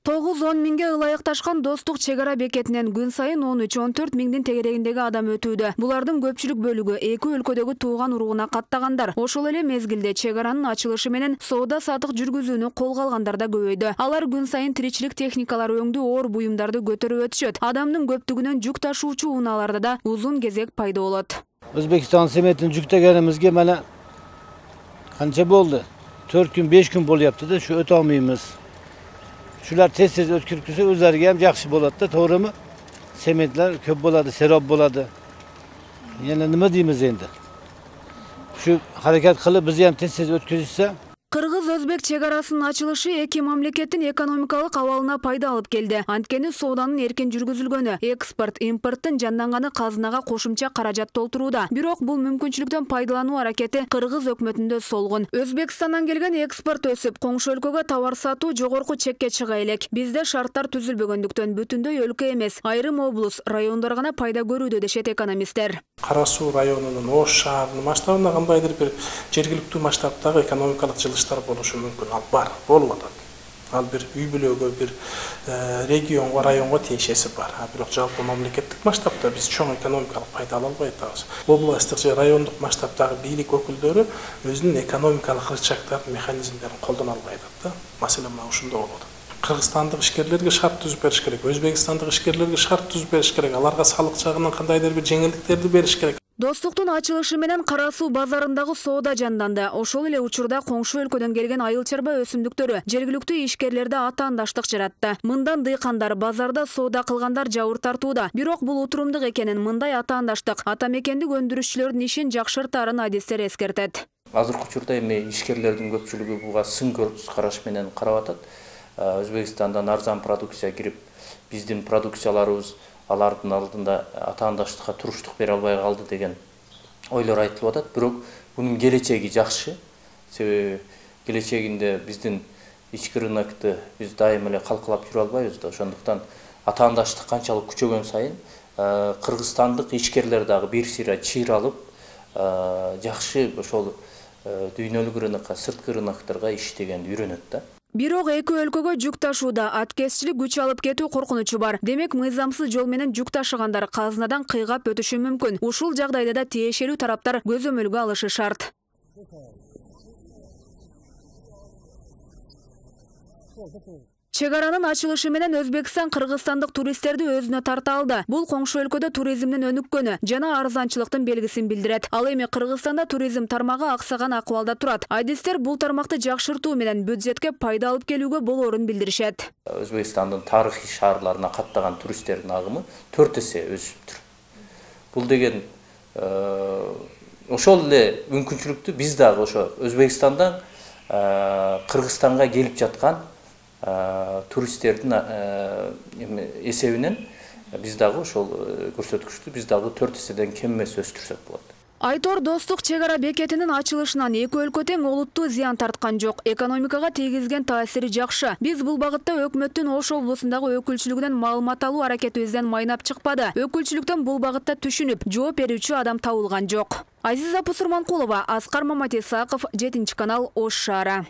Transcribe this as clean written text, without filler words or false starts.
9-10 миңге ылайыкташкан Достук чек ара бекетинен күн сайын 13-14 миңдин тегерегиндеги адам өтүүдө. Булардын көпчүлүк бөлүгү эки өлкөдөгү тууган уругуна каттагандар. Ошол эле мезгилде чек аранын ачылышы менен соода сатык жүргүзүүнү колго алгандар да көбөйдү. Алар күн сайын тиричилик техникалары өңдүү оор буюмдарды көтөрүп өтүшөт. Адамдын көптүгүнөн жүк ташуучу унааларда да узун кезек пайда болот. Өзбекстан семетин жүктөгөнүбүзгө мана канча болду? 4 күн, 5 күн болуп да şu өтө алмайбыз. Şular tez ötkürküsü özlerge hem жақсы болады да, to'g'rimi? Sementler köp болады, serob болады. Yani nima deymiz endi? Şu hareket qilib bizni ham tez ötküzse. Кыргыз-Өзбек чек арасынын ачылышы эки мамлекеттин экономикалык абалына пайда алып келди. Анткени сооданын эркин жүргүзүлгөнү, экспорт, импорттун жанданганы казынага кошумча каражат толтурууда. Бирок бул мүмкүнчүлүктөн пайдалануу аракети Кыргыз өкмөтүндө солгун. Өзбекстандан келген экспорт өсүп, коңшу өлкөгө товар сатуу жогорку чекке чыга элек. Бизде шарттар түзүлбөгөндүктөн бүтүндөй өлкө эмес, айрым облус, райондор гана пайда көрүүдө дешет экономисттер. Кара Суу районунун Ош шаарынын масштабында кандайдыр бир жергиликтүү масштабтагы экономикалык жылыштар болушу мүмкүн. Ал бар, болуп атат. Ал бир үй бүлөгө, бир регионго, районго тиешеси бар. Бирок жалпы мамлекеттик масштабта биз чоң экономикалык пайда ала албай атабыз. Областтык же райондук масштабтагы бийлик өкүлдөрү өзүнүн экономикалык рычагдарын, механизмдерин колдоно албай атат да. Маселе мына ушунда болот. Кыргызстандык ишкерлерге шарт түзүп бериш керек, өзбекстандык ишкерлерге шарт түзүп бериш керек, аларга салык жагынан кандайдыр бир жеңилдиктерди бериш керек. Достуктун ачылышы менен Кара Суу базарындагы соода жанданды. Ошол эле учурда коңшу өлкөдөн келген айыл-чарба өсүмдүктөрү жергиликтүү ишкерлерде атаандаштык жаратты. Мындан дыйкандар базарда соода кылгандар жабыр тартууда. Бирок бул утурумдук экенин, мындай атаандаштык ата мекендик өндүрүшчүлөрдүн ишин жакшыртаарын адистер эскертет. Азыркы учурда эми ишкерлердин көпчүлүгү буга сын көз караш менен карап атат. Өзбекстандан арзан продукция кирип, биздин продукцияларыбыз алардын алдында атаандаштыкка туруштук бере албай калды деген ойлор айтылып атат. Бирок бунун келечеги жакшы. Себеби келечегинде биздин ички рынокты биз дайым эле калкалап жүрө албайбыз да. Ошондуктан атаандаштык канчалык күчөгөн сайын кыргызстандык ишкерлер дагы бир сыйра чыйыр алып, жакшы ошол дүйнөлүк рынокко, сырткы рынокторго иштегенди үйрөнөт да. Бирок эки өлкөгө жүк ташууда аткезчилик күч алып кетүү коркунучу бар. Демек, мыйзамсыз жол менен жүк ташыгандар казынадан кыйгап өтүшү мүмкүн. Ушул жагдайда да тиешелүү тараптар көзөмөлгө алышы шарт. Чек аранын ачылышы менен Өзбекстан кыргызстандык туристтерди өзүнө тарта алды. Бул коңшу өлкөдө туризмдин өнүккөнү жана арзанчылыктын белгисин билдирет. Ал эми Кыргызстанда туризм тармагы аксаган акыбалда турат. Адистер бул тармакты жакшыртуу менен бюджетке пайда алып келүүгө болоорун билдиришет. Өзбекстандын тарыхый шаарларына каттаган туристтердин агымы 4 эсе өсүптүр. Бул деген ошол эле мүмкүнчүлүктү биз дагы ошо Өзбекстандан Кыргызстанга келип жаткан туристтердин эсебинен биз дагы ошол көрсөткүчтү биз дагы 4 эседен кем эмес өстүрсөк болот. Айтор Достук чек ара бекетинин ачылышынан эки өлкө тең олуттуу зыян тарткан жок. Экономикага тийгизген таасири жакшы. Биз бул багытта өкмөттүн Ош облусундагы өкүлчүлүгүнөн маалымат алуу аракетибизден майнап чыкпады. Өкүлчүлүктөн бул багытта түшүнүп, жооп берүүчү адам табылган жок. Азиза Пусурманкулова, Аскар Маматисаков, 7 канал, Ош шаары.